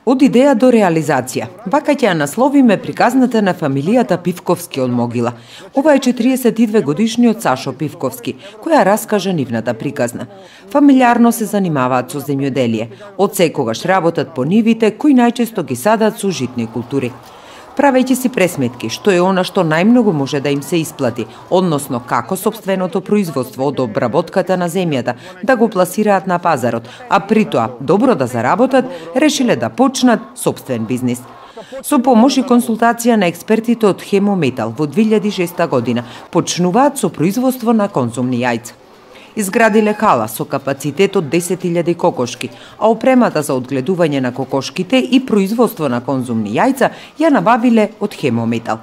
Од идеја до реализација. Вака ќе ја насловиме приказната на фамилијата Пивковски од Могила. Ова е 42 годишниот Сашо Пивковски, која раскажа нивната приказна. Фамилиарно се занимаваат со земјоделие. Од секогаш работат по нивите, кои најчесто ги садат со житни култури. Правејќи си пресметки, што е она што најмногу може да им се исплати, односно како сопственото производство од обработката на земјата да го пласираат на пазарот, а при тоа добро да заработат, решиле да почнат сопствен бизнис. Со помош и консултација на експертите од Хемометал во 2006 година почнуваат со производство на конзумни јајца. Изградиле хала со капацитет од 10.000 кокошки, а опремата за одгледување на кокошките и производство на конзумни јајца ја набавиле од Хемометал.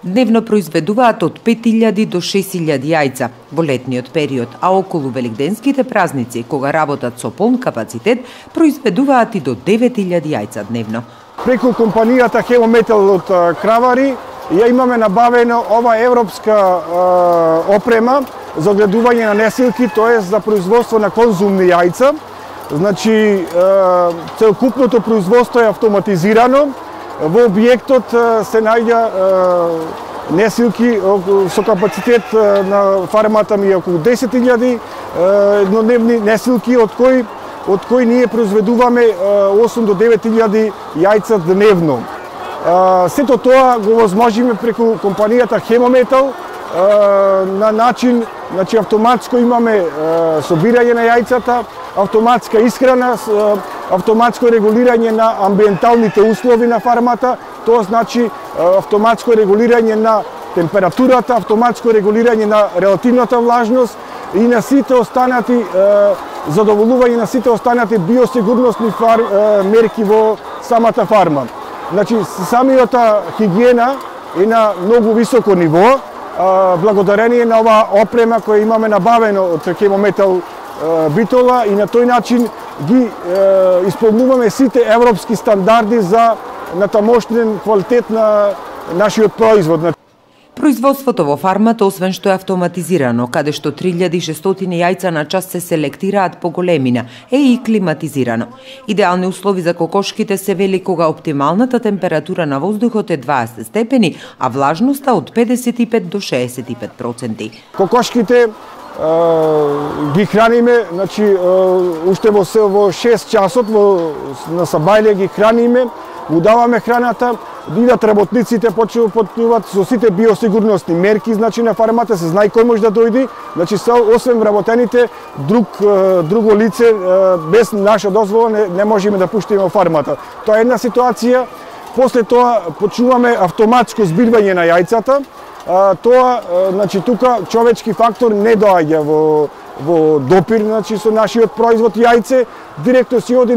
Дневно произведуваат од 5.000 до 6.000 јајца во летниот период, а околу великденските празници, кога работат со полн капацитет, произведуваат и до 9.000 јајца дневно. Преку компанијата Хемометал од Кравари ја имаме набавено ова европска опрема за одгледување на несилки, тоа е за производство на конзумни јајца. Значи, целокупното производство е автоматизирано. Во објектот се најѓа несилки со капацитет на фармата ми околу 10.000 еднодневни несилки, од кои ние произведуваме 8 до 9.000 јајца дневно. Сето тоа го возможиме преку компанијата Хемометал на начин, значи автоматско имаме собирање на јајцата, автоматска исхрана, автоматско регулирање на амбиенталните услови на фармата, тоа значи автоматско регулирање на температурата, автоматско регулирање на релативната влажност и на сите останати задоволување на сите останати биосигурносни мерки во самата фарма. Значи, самиот хигиена е на многу високо ниво, благодарение на оваа опрема која имаме набавено од Хемометал Битола и на тој начин ги исполнуваме сите европски стандарди за натамошнен квалитет на нашиот производ. Производството во фармата, освен што е автоматизирано, каде што 3600 јајца на час се селектираат по големина, е и климатизирано. Идеални услови за кокошките се вели кога оптималната температура на воздухот е 20 степени, а влажноста од 55 до 65%. Кокошките ги храниме, значи уште во 6 часот на сабајле ги храниме, му даваме храната, идат работниците, почнуваат со сите биосигурносни мерки, значи на фармата се знае кој може да дојде, значи освен вработените, друго лице без наша дозвола не можеме да пуштиме во фармата. Тоа е една ситуација. После тоа почнуваме автоматско збирвање на јајцата. Тоа, значи тука човечки фактор не доаѓа во допир, значи со нашиот производ јајце, директно си оди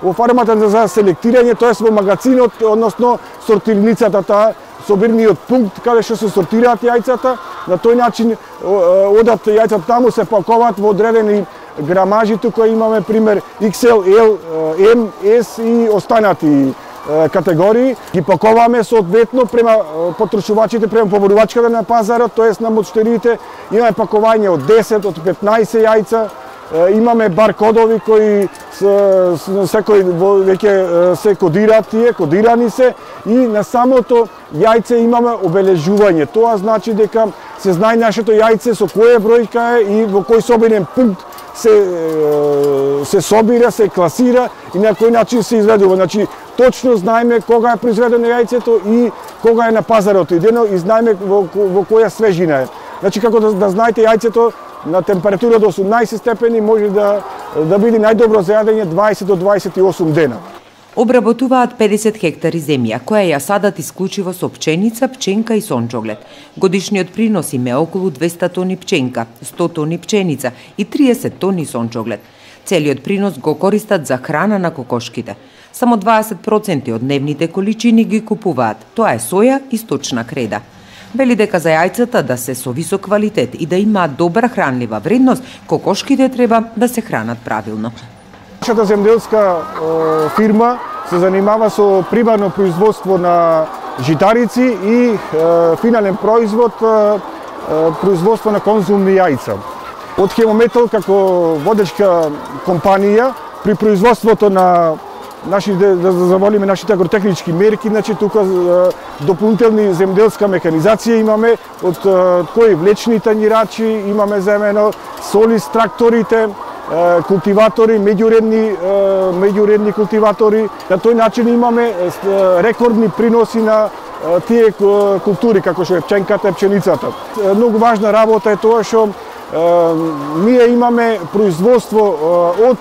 во фармата за селектирање, тоа е во магазинот, односно сортирницата, таа собирниот пункт каде што се сортираат јајцата. На тој начин одат јајцата таму, се пакуваат во одредени грамажи, тука имаме пример XL, L, M, S и останати категории. Ги пакуваме соодветно према потрошувачите, према поборувачката на пазарот, тоест на мочтериите. Имаме пакување од 10, од 15 јајца. Имаме баркодови кои секој веќе се кодираат тие, кодирани се, и на самото јајце имаме обележување. Тоа значи дека се знае нашето јајце со која бројка е и во кој собирен пункт се собира, се класира и на кој начин се изведува. Значи, точно знаеме кога е произведено јајцето и кога е на пазарот идено и знаеме во која свежина е. Значи, како да знаете, јајцето на температура до 18 степени може да биде најдобро за јадење 20 до 28 дена. Обработуваат 50 хектари земја, која ја садат исклучиво со пченица, пченка и сончоглед. Годишниот принос им е околу 200 тони пченка, 100 тони пченица и 30 тони сончоглед. Целиот принос го користат за храна на кокошките. Само 20% од дневните количини ги купуваат. Тоа е соја и сточна креда. Вели дека за јајцата да се со висок квалитет и да имаат добра хранлива вредност, кокошките треба да се хранат правилно. Нашата земјоделска фирма се занимава со примарно производство на житарици и финален производ, производство на конзумни јајца. Од Хемометал како водечка компанија при производството на да заволиме нашите агротехнички мерки, значи тука дополнителни земјоделска механизација имаме од кои влечни танјирачи, имаме заедно солис тракторите, култиватори, меѓуредни култиватори. На тој начин имаме рекордни приноси на тие култури како што е пченката и пченицата. Многу важна работа е тоа што ние имаме производство од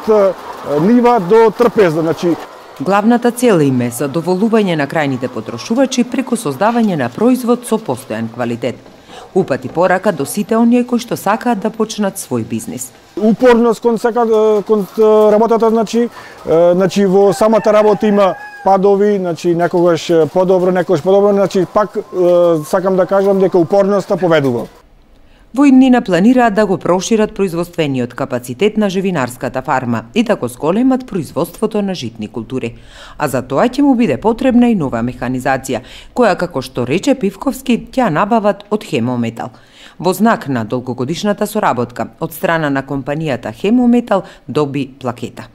нива до трпеза, значи главната цел им е задоволување на крајните потрошувачи преку создавање на производ со постојан квалитет. Упати порака до сите оние кои што сакаат да почнат свој бизнис. Упорност кон работата, значи во самата работа има падови, значи некогаш подобро, значи пак сакам да кажам дека упорноста победува. Во иднина планираат да го прошират производствениот капацитет на живинарската фарма и да го зголемат производството на житни култури. А за тоа ќе му биде потребна и нова механизација, која, како што рече Пивковски, ќе набават од Хемометал. Во знак на долгогодишната соработка, од страна на компанијата Хемометал доби плакета.